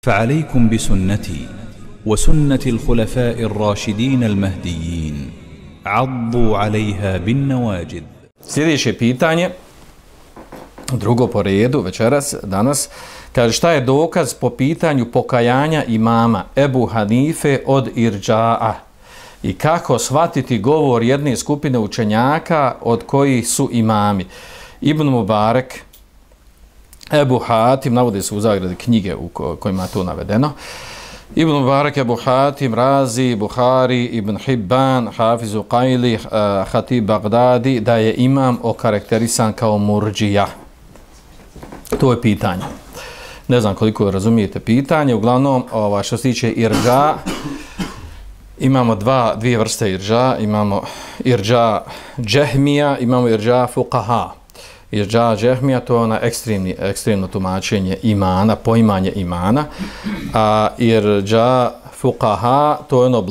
فعليكم بسنتي وسنة الخلفاء الراشدين المهديين عضوا عليها بالنواجذ. Sljedeće pitanje, drugo po redu večeras, danas, kaže šta je dokaz po pitanju pokajanja imama Ebu Hanife od Irđa'a i kako shvatiti govor jedne skupine učenjaka od kojih su imami Ibn Mubarek, Ebu Hatim, navode se u zagradi knjige u kojima je to navedeno, Ibn Mubarek, Ebu Hatim, Razi, Buhari, Ibn Hibban, Hafiz Uqajli, Hatib Bagdadi, da je imam okarakterisan kao murdžija. To je pitanje. Ne znam koliko razumijete pitanje, uglavnom što se tiče irđa, imamo dvije vrste irđa, imamo irđa džehmija, imamo irđa fuqaha. Irđa džehmija, to je ona ekstremno tumačenje imana, poimanje imana, a irđa fuqaha, to je ono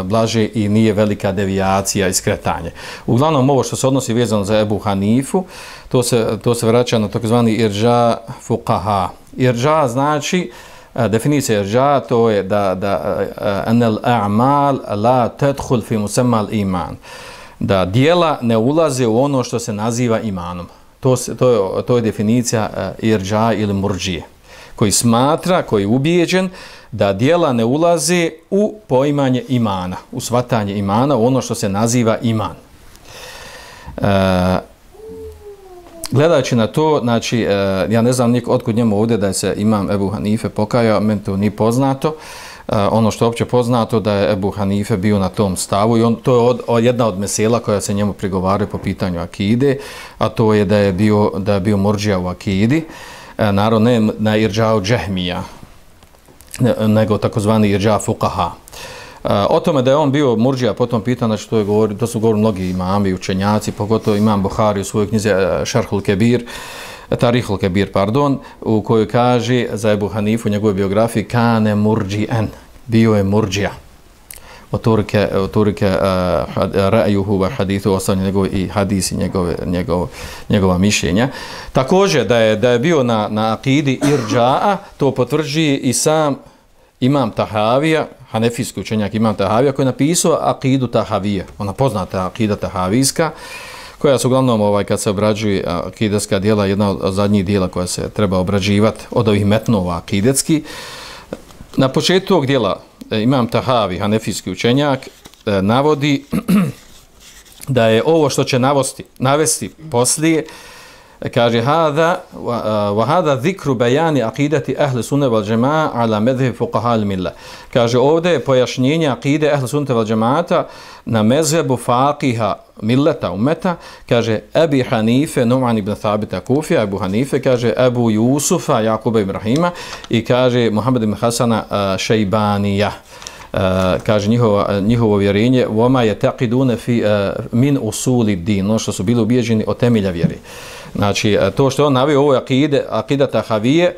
blaže i nije velika devijacija i skretanje. Uglavnom, ovo što se odnosi vezano za Ebu Hanifu, to se vraća na takozvani irđa fuqaha. Irđa znači, definicija irđa, to je da anel a'mal la tadkhul fi musamma al-iman, da dijela ne ulaze u ono što se naziva imanom. To je definicija irđa ili murdžije, koji smatra, koji je ubijeđen da dijela ne ulaze u poimanje imana, u shvatanje imana, u ono što se naziva iman. Gledajući na to, znači, ja ne znam otkud njemu ovdje da se imam Ebu Hanife pokajao, meni to nije poznato. Ono što je opće poznato da je Ebu Hanife bio na tom stavu i to je jedna od mesela koja se njemu prigovaraju po pitanju akide, a to je da je bio murdžija u akidi, naravno ne na irđa'u džehmija, nego takozvani irđa fuqaha. O tome da je on bio murdžija po tom pitanju, znači to su govorili mnogi imami, učenjaci, pogotovo imam Buhari u svojoj knjizi Šarhul Kebir, Tarihul Kebir, pardon, u kojoj kaže za Ebu Hanifu u njegovoj biografiji kane murdži'en, bio je murdžija. Oturike ra'juhu wa hadithu, ostavljaju njegovi i hadisi, njegova mišljenja. Također da je bio na akidi irđa'a, to potvrđuje i sam imam Tahavija, hanefijski učenjak imam Tahavija, koji je napisao akidu Tahavije, ona poznata akida Tahavijska, koja su uglavnom, kad se obrađuje akideska dijela, jedna od zadnjih dijela koja se treba obrađivati od ovih metnova akidetski. Na početku tog dijela imam Tahavi, hanefijski učenjak, navodi da je ovo što će navesti poslije, kaže wa hada zikru bajani akidati ahli sunne wal džema'a ala medheb fuqaha al milla. Kaže ovdje je pojašnjenje akide ahli sunne wal džemata na mezhebu faqiha milleta umeta, kaže Ebi Hanife, Nu'man ibn Thabita Kufija, Ebu Hanife, kaže Ebu Jusufa, Jakuba Ibrahima i kaže Muhammed ibn Hasana Šejbanija. Kaže njihovo vjerenje voma je taqidune fi min usuli din, no što su bili ubijeđeni od temelja vjere. Znači, to što on navio ovo je akida Tahavije,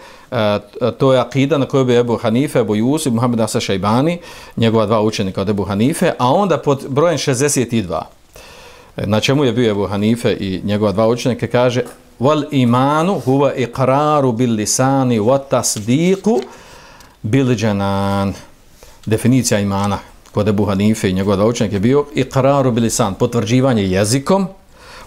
to je akida na kojoj bi Ebu Hanife, Ebu Jusuf, Muhammed Hasan Šejbani, njegova dva učenika od Ebu Hanife, a onda pod brojem 62. Na čemu je bio Ebu Hanife i njegova dva učenika, kaže wal imanu huwa iqraru bil lisani wa tasdiqu bil janan. Definicija imana kod Ebu Hanife i njegova dva učenika je bio iqraru bil lisan, potvrđivanje jezikom,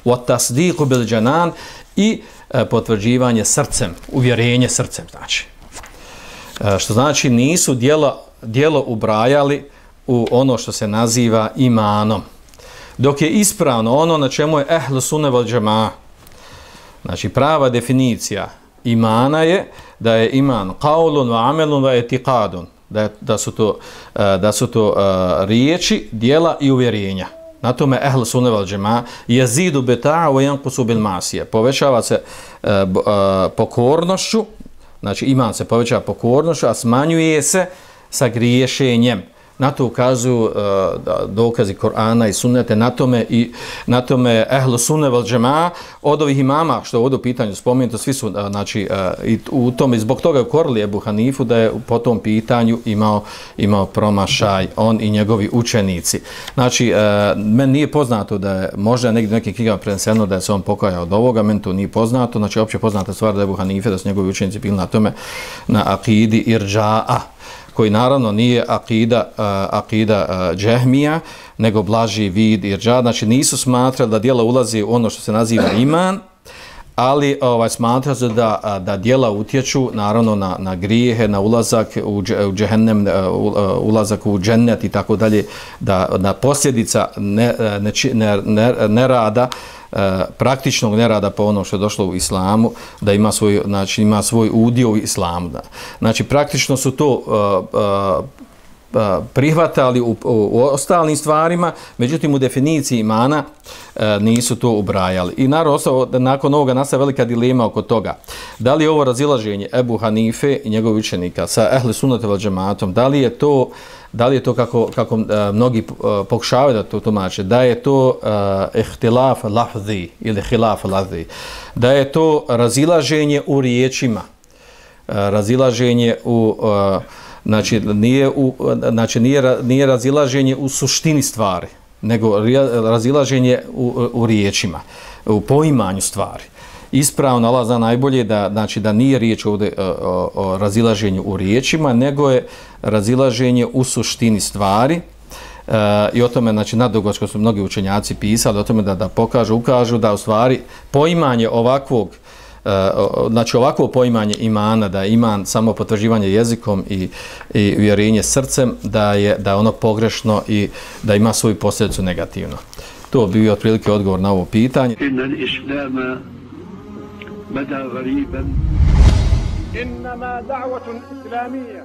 wa tasdiqu bil janan i potvrđivanje srcem, uvjerenje srcem, znači. Što znači nisu djelo ubrajali u ono što se naziva imanom. Dok je ispravno ono na čemu je ehlu sunne vel džema'a. Znači prava definicija imana je da je iman qaulun wa amelun wa etiqadun. Da su to riječi, djela i uvjerenja. Na tome ehlu sunne vel džema'a yazidu bi ta'a wa yanqusu bil ma'siyah. Povećava se pokornošću, znači iman se povećava pokornošću, a smanjuje se sa griješenjem. Na to ukazuju dokazi Korana i Sunnete, na tome ehlu sunne vel džemaa od ovih imama, što je ovdje u pitanju spomenuto, svi su, znači, i u tome, zbog toga ukorili Ebu Hanifu da je po tom pitanju imao promašaj, on i njegovi učenici. Znači, meni nije poznato da je, možda negdje nekim knjigama preneseno da je se on pokajao od ovoga, meni to nije poznato, znači, opće poznata stvar da je Ebu Hanife, da su njegovi učenici bili na tome, na akidi irđa'a, koji naravno nije akida džehmija, nego blaži vid irđa. Znači nisu smatrali da djela ulazi u ono što se naziva iman, ali smatra se da djela utječu naravno na grijehe, na ulazak u džehennem, ulazak u džennet i tako dalje, da na posljedica nerada, praktičnog nerada po ono što je došlo u islamu, da ima svoj udio u islamu. Znači praktično su to prihvatali u ostalim stvarima, međutim u definiciji imana nisu to ubrajali. I naravno, nakon ovoga nastaje velika dilema oko toga. Da li je ovo razilaženje Ebu Hanife i njegovih učenika sa ehli sunnete vel džematom, da li je to kako mnogi pokušavaju da to tumače, da je to ihtilaf lafzi ili hilaf lafzi, da je to razilaženje u riječima, razilaženje u znači nije razilaženje u suštini stvari, nego razilaženje u riječima, u poimanju stvari. Ispravno Allah zna najbolje da nije riječ ovdje o razilaženju u riječima, nego je razilaženje u suštini stvari. I o tome, znači, nadugačko su mnogi učenjaci pisali, o tome da ukažu da u stvari poimanje ovakvog, znači ovakvo poimanje imana, da je iman samo potvrđivanje jezikom i vjerenje srcem, da je ono pogrešno i da ima svoju posljedicu negativno. To bi bio otprilike odgovor na ovo pitanje. إنما دعوة إسلامية